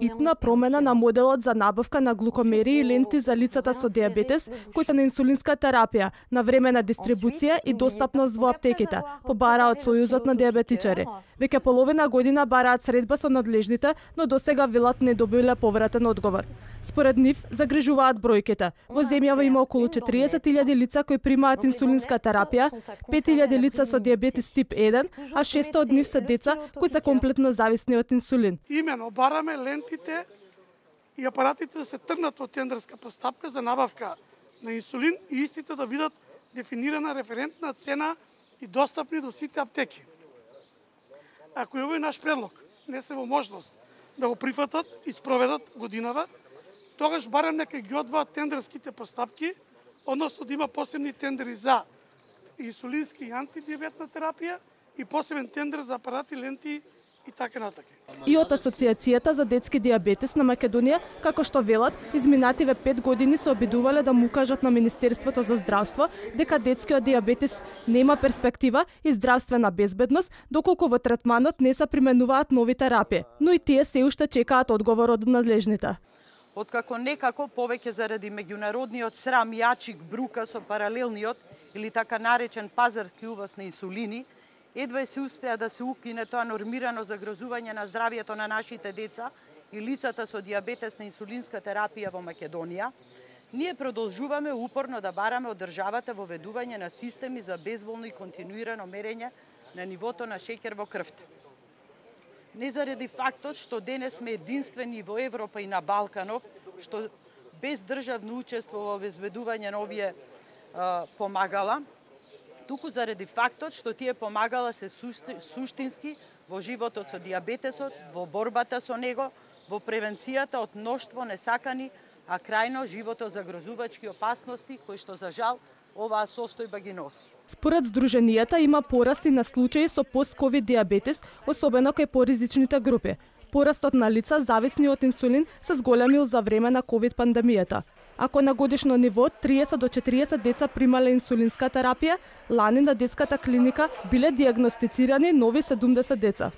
Итна промена на моделот за набавка на глукомери и ленти за лицата со дијабетес кои се на инсулинска терапија, навремена дистрибуција и достапност во аптеките, побараат Сојузот на дијабетичари. Веќе половина година бараат средба со надлежните, но досега велат не добиле повратен одговор. Според нив, загрижуваат бројките. Во земјава има околу 40.000 лица кои примаат инсулинска терапија, 5.000 лица со дијабетес тип 1, а 600 од нив се деца кои се комплетно зависни од инсулин. Имено бараме лентите и апаратите да се тргнат во тендерска постапка за набавка на инсулин и истите да бидат дефинирана референтна цена и достапни до сите аптеки. Ако овој наш предлог не се во можност да го прифатат и спроведат годинава, тогаш барем нека ги одвоат тендерските постапки, односно да има посебни тендери за инсулински и антидиабетна терапија и посебен тендер за апарати, ленти и така натака. И од Асоциацијата за детски дијабетес на Македонија, како што велат, изминативе 5 години се обидувале да му кажат на Министерството за здравство дека детскиот дијабетес нема перспектива и здравствена безбедност, доколку во третманот не се применуваат нови терапии, но и тие се уште чекаат одговор од надлежните. Откако некако повеќе заради меѓународниот срам јачик брука со паралелниот или така наречен пазарски увоз на инсулини, едва се успеа да се укине тоа нормирано загрозување на здравјето на нашите деца и лицата со дијабетес на инсулинска терапија во Македонија, ние продолжуваме упорно да бараме од државата воведување на системи за безболно и континуирано мерење на нивото на шеќер во крвта. Не заради фактот што денес сме единствени во Европа и на Балканов, што без државно учество во обезбедување на овие помагала, туку заради фактот што тие помагала се суштински во животот со дијабетесот, во борбата со него, во превенцијата од мноштво несакани, а крајно живото загрозувачки опасности кои што за жал оваа состојба ги носи. Според Сдруженијата има порасти на случаи со пост-ковид дијабетес, особено кај поризичните групи. Порастот на лица зависни од инсулин се зголемил за време на ковид пандемијата. Ако на годишно ниво 30 до 40 деца примале инсулинска терапија, лани на детската клиника биле дијагностицирани нови 70 деца.